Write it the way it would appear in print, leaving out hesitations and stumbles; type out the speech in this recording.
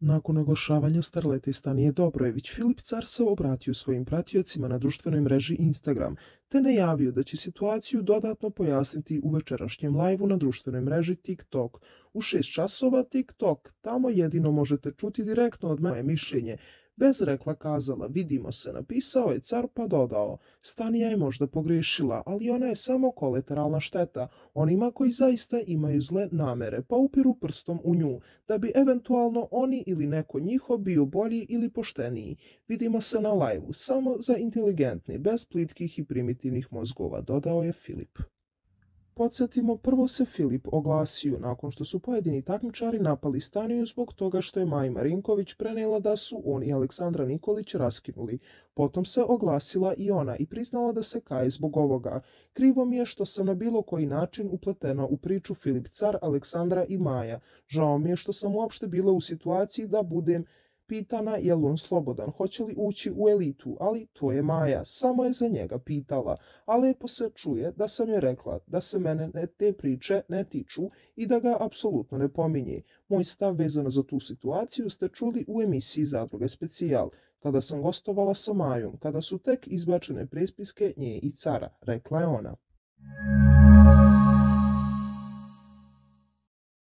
Nakon oglašavanja starlete Stanije Dobrojević, Filip Car se obratio svojim pratiocima na društvenoj mreži Instagram, te najavio da će situaciju dodatno pojasniti u večerašnjem lajvu na društvenoj mreži TikTok. U 6 časova TikTok, tamo jedino možete čuti direktno od moje mišljenje. Bez rekla kazala, vidimo se, napisao je Car pa dodao, Stanija je možda pogrešila, ali ona je samo kolateralna šteta onima koji zaista imaju zle namere, pa upiru prstom u nju, da bi eventualno oni ili neko njihov bio bolji ili pošteniji. Vidimo se na lajvu, samo za inteligentni, bez plitkih i primitivnih mozgova, dodao je Filip. Podsjetimo, prvo se Filip oglasio nakon što su pojedini takmičari napali Staniju zbog toga što je Maja Marinković prenijela da su on i Aleksandra Nikolić raskinuli. Potom se oglasila i ona i priznala da se kaje zbog ovoga. Krivo mi je što sam na bilo koji način upletena u priču Filip Car, Aleksandra i Maja. Žao mi je što sam uopšte bila u situaciji da budem pitana je li on slobodan, hoće li ući u elitu, ali to je Maja, samo je za njega pitala, a lepo se čuje da sam joj rekla da se mene te priče ne tiču i da ga apsolutno ne pominje. Moj stav vezano za tu situaciju ste čuli u emisiji Zadruge specijal, kada sam gostovala sa Majom, kada su tek izbačene prespiske nje i Cara, rekla je ona.